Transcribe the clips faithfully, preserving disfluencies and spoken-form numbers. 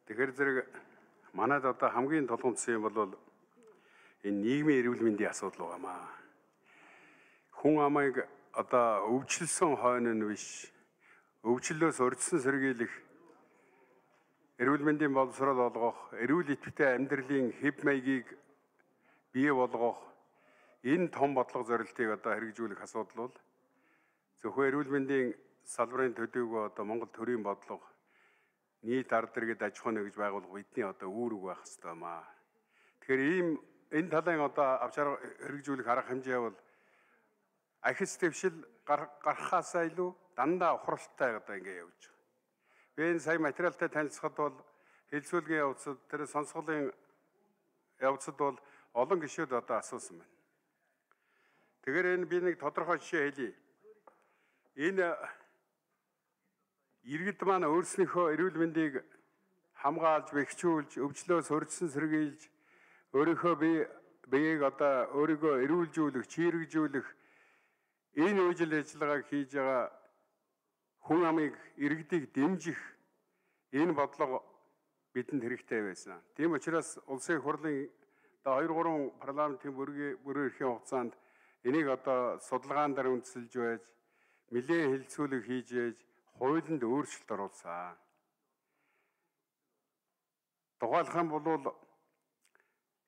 Тэгэхээр зэрэг манайд одоо хамгийн толгомцсон юм бол энэ нийгмийн эрүүл мэндийн асуудал байгаамаа. Хүн амыг одоо өвчлсөн хойно нь биш, өвчлөлөөс урьдчилан сэргийлэх, эрүүл мэндийн боловсрол олгох, эрүүл идэвхтэй амьдралын хэв маягийг бий болгох энэ том бодлого зорилтыг одоо хэрэгжүүлэх асуудал бол зөвхөн эрүүл мэндийн салбарын төдийгүй одоо Монгол төрийн бодлого нийт ард иргэд аж ахуйн гэж байгуулах бидний одоо үүрэг байх хэрэгтэй маа. Тэгэхээр ийм энэ талын одоо авч хэрэгжүүлэх арга хэмжээ бол ахис дэвшил гарахаасаа илүү дандаа ухралтай одоо ингэ явж байгаа. Би энэ сая материалтай танилцахад бол хэлцүүлгийн явцад тэр сонсголын явцад бол олон гишүүд одоо асуусан байна. Тэгэхээр энэ би нэг тодорхой жишээ хэлье. Энэ иргэд маань өөрснийхөө эрүүл мэндийг хамгаалж, бэхжүүлж, өвчлөөс урьдчилан сэргийлж, өөрийнхөө бие биеийг одоо өөрийгөө эрүүлжүүлэх, чирэгжүүлэх энэ үйл ажиллагааг хийж байгаа хүн амыг иргэдийг дэмжих энэ бодлого бидэнд хэрэгтэй байсан. Тийм учраас улсын их хурлын одоо хоёр гурван парламентын бүрэн эрхийн хугацаанд энийг одоо судалгаан дээр үндэслэж байж, нэлээд хэлэлцүүлэг хийж яаж хуулинд өөрчлөлт оруулсан. Тухайлх юм бол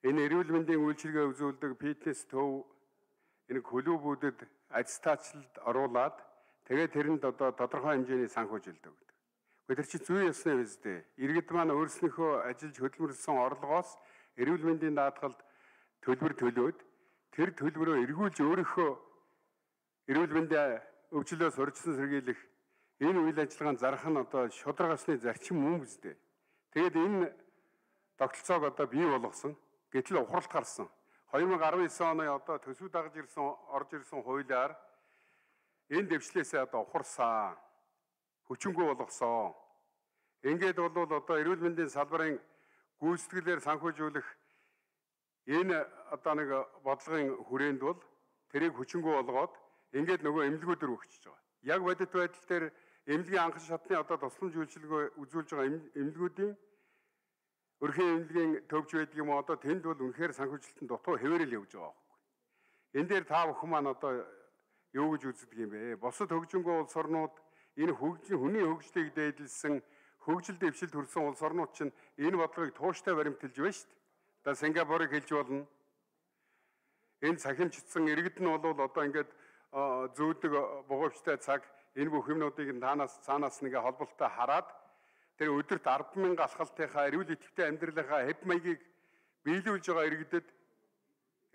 энэ эрүүл мэндийн үйлчилгээ үзүүлдэг фитнес төв энэ клубүүдэд аттестацлалд оруулаад тэгээд тэрэнд одоо тодорхой хэмжээний санхүүжилт өгдөг. Гэхдээ тэр чинь зүй ёсны биз дээ. Иргэд маань өөрснийхөө ажиллаж хөдөлмөрлсөн орлогоос эрүүл мэндийн даатгалд төлбөр төлөөд тэр төлбөрөө эргүүлж өөрийнхөө эрүүл мэндийн өвчлөөс урьдчилан сэргийлэх энэ үйл ажиллагаанд зарах нь одоо шударгасны зарчим мөн биз дээ. Тэгээд энэ тогтолцоог одоо бий болгосон. Гэтэл ухралт гарсан. хоёр мянга арван девять оны одоо төсөв дагаж ирсэн орж ирсэн хуулиар энэ дэвшлээсээ одоо ухарсан. Хүчингүй болгосон. Ингээд бол одоо эрүүл мэндийн салбарын гүйцэтгэлээр санхүүжүүлэх энэ одоо нэг бодлогын хүрээнд бол тэрийг хүчингүй болгоод ингээд нөгөө эмнэлгүүдээр өгчөж байгаа. Яг бодит байдал дээр эмнэлгийн анхан шатны одоо тусламж үйлчилгээ үзүүлж байгаа эмнэлгүүдийн өрхийн эмнэлгийн төвч байдаг юм одоо тэнд бол үнэхээр санхүүжилтэн дутуу хэвээрэл явж байгаа байхгүй. Энэ дээр та бүхэн маань одоо юу гэж үздэг юм бэ? Бусад хөгжингөө улс орнууд энэ хөгжин хүний хөгжлийг дээдлсэн хөгжил дэвшилд хүрсэн улс орнууд чинь энэ бодлогыг тууштай баримталж байна шүү дээ. Одоо Сингапурыг хэлж болно. Энэ цахимжтсан иргэд нь бол одоо ингээд зөөдөг бугуйчтай цаг энэ бүх юмнуудыг танаас цаанаас нэгэ холболттой хараад тэр өдөрт ард мянга алхалтынхаа эрүүл идэвхтэй амьдралынхаа хэв маягийг биелүүлж байгаа иргэдэд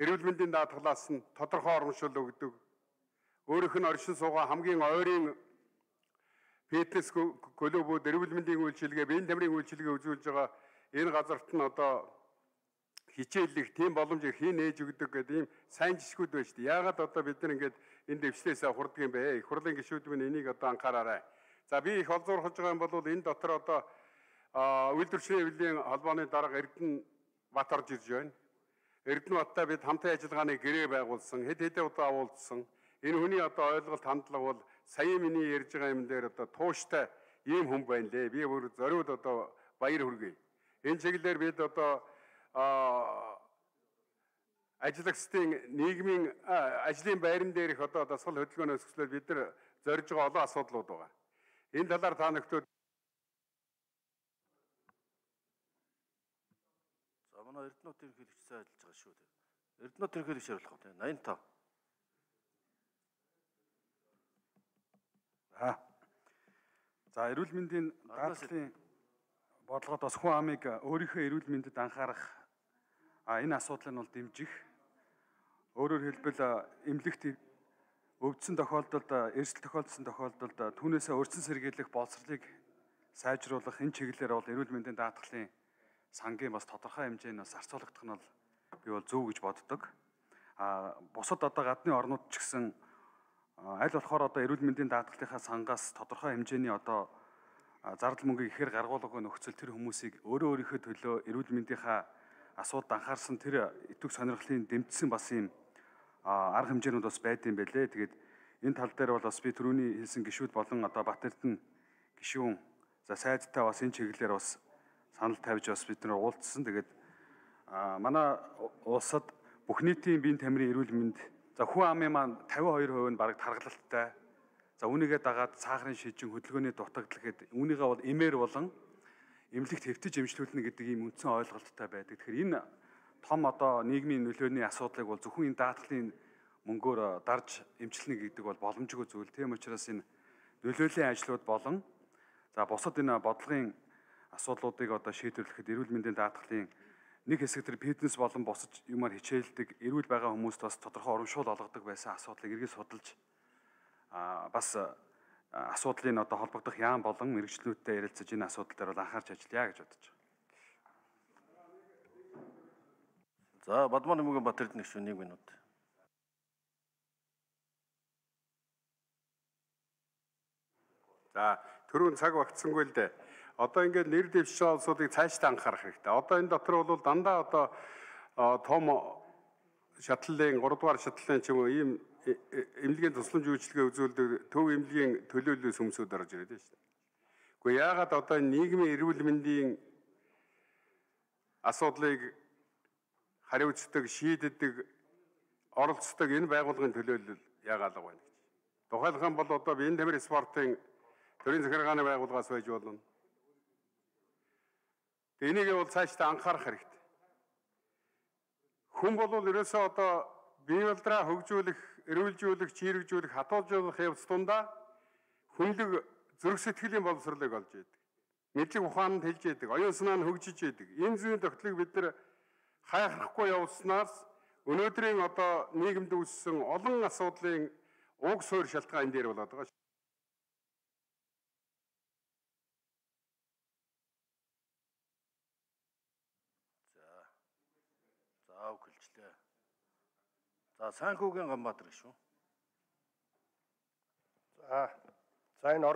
эрүүл мэндийн даатгалаас нь тодорхой урамшуул өгдөг. Өөрийнх нь оршин суугаа хамгийн ойрын фитнес клубүүд эрүүл мэндийн үйлчилгээ, биеийн тамирын үйлчилгээ үзүүлж байгаа энэ газарт нь одоо хичээллэх тийм боломж хийн ээж өгдөг гэдэг ийм сайн жишгүүд байна шүү дээ. Яагаад одоо бид нар ингээд энэ дэвшлээсээ хурдаг юм бэ? Их хурлын гишүүд минь энийг одоо анхаараарай. За би их олзуурхаж байгаа юм бол энэ дотор одоо үйлдвэрчлийн хэвлэлийн холбооны дарга Эрдэнэ Бат орж ирж байна. Эрдэнэ Баттай бид хамтын ажиллагааны гэрээ байгуулсан, хэд хэдэн удаа уулзсан. Энэ хүний одоо ойлголт хандлага бол сая миний ярьж байгаа юм дээр одоо тууштай ийм хүн байна лээ. Би бүр зориуд одоо баяр хүргэе. Энэ чиглэлээр бид одоо ажиллагчдын нийгмийн ажлын байран дээрх одоо дасгал хөдөлгөөнөөс өсгөлөд бид нар зорж байгаа олон асуудлууд байгаа. Энэ талаар та нөхдөд за манай Эрдэнэт ерөнхийлөгчтэй ажиллаж байгаа шүү дээ. Эрдэнэт ерөнхийлөгч хариулах уу? восемьдесят пять. Аа. За эрүүл мэндийн даатгалын бодлогод бас хүн амыг өөрийнхөө эрүүл мэндэд анхаарах энэ асуудал нь бол дэмжих. Өөрөөр хэлбэл эмнэлэгт өвдсөн тохиолдолд, эрсдэл тохиолдсон тохиолдолд түүнээсээ урьдчилан сэргийлэх боловсролыг сайжруулах энэ чиглэлээр бол эрүүл мэндийн даатгалын сангийн бас тодорхой хэмжээнд бас зарцуулагдах нь бол би бол зөв гэж боддог. А бусад одоо гадны орнууд ч гэсэн аль болохоор одоо эрүүл мэндийн даатгалынхаа сангаас тодорхой хэмжээний одоо зардал мөнгөийг ихээр гаргуулгагүй нөхцөл тэр хүмүүсийг өөрөө өөрийнхөө төлөө эрүүл мэндийнхаа асуудалд анхаарсан тэр итвэх сонирхлын дэмжсэн бас юм арга хэмжээнүүд бас байд юм байлээ. Тэгээд энэ тал дээр бол бас би түрүүний хэлсэн гишүүд болон одоо Бат Эрдэнэ гишүүн за сайдтай бас энэ чиглэлээр бас санал тавьж бас бид нар уулзсан. Тэгээд манай улсад бүх нийтийн биеийн тамирын эрүүл мэнд за хүн амын маань тавин хоёр хувь нь бараг тархалттай. За үүнийгээ дагаад цаахрын шижин хөдөлгөөний дутагдал гэдэг үүнийгээ бол эмээр болон эмнэлэгт хэвтэж эмчлүүлнэ гэдэг ийм үндсэн ойлголттой байдаг. Тэгэхээр энэ том одоо нийгмийн нөлөөний асуудлыг бол зөвхөн энэ даатгалын мөнгөөр дарж эмчилнэ гэдэг бол боломжгүй зүйл. Тийм учраас энэ нөлөөлийн ажлууд болон за бусад энэ бодлогын асуудлуудыг одоо шийдвэрлэхэд эрүүл мэндийн даатгалын нэг хэсэг төр фитнес болон босож юмар хичээлдэг эрүүл байгаа хүмүүст бас тодорхой урамшуул олгодог байсан асуудлыг эргэж судалж а бас асуудлын одоо холбогдох яам болон мэрэгчлүүдтэй ярилцаж энэ асуудал дээр бол анхаарч ажиллая гэж бодож байна. За Бадман Нэмгийн Батэрдэн гишүүн нэг минут. За түрүүн цаг багтсангүй л дээ. Одоо ингээд нэр дэвшсэн улсуудыг цаашдаа анхаарах хэрэгтэй. Одоо энэ дотор бол дандаа одоо том шатлалын гурав дугаар шатлалын ч юм уу ийм эмнэлгийн тусламж үйлчилгээ үзүүлдэг төв эмнэлгийн төлөөлөл сүмсүүд орж ирээд байна шүү дээ. Гэхдээ яагаад одоо нийгмийн эрүүл мэндийн асуудлыг хариуцдаг, шийддэг, оролцдог энэ байгууллагын төлөөлөл яагаад л байна гэж. Тухайлх юм бол одоо биеийн тамирын спортын төрийн захиргааны байгууллагаас байж болно. Энийг бол цаашдаа анхаарах хэрэгтэй. Хүн бол ерөөсөө одоо бие болдраа хөгжүүлэх, эрүүлжүүлэх, чирэгжүүлэх, хатуулжуулах явц тундаа хүнлэг зүрх сэтгэлийн боловсролыг олж идэг. Мэдлэг ухаанд хэлж идэг, оюун санаа нь хөгжиж идэг. Энэ зүйн тогтолцоог бид нар хайхрахгүй явуулснаас өнөөдрийн одоо нийгэмд үүссэн олон асуудлын уг суурь шалтгаан энэ дээр болоод байгаа. За өгөлжлээ. За Сайнхүүгийн Ганбаатар гишүүн. За за энэ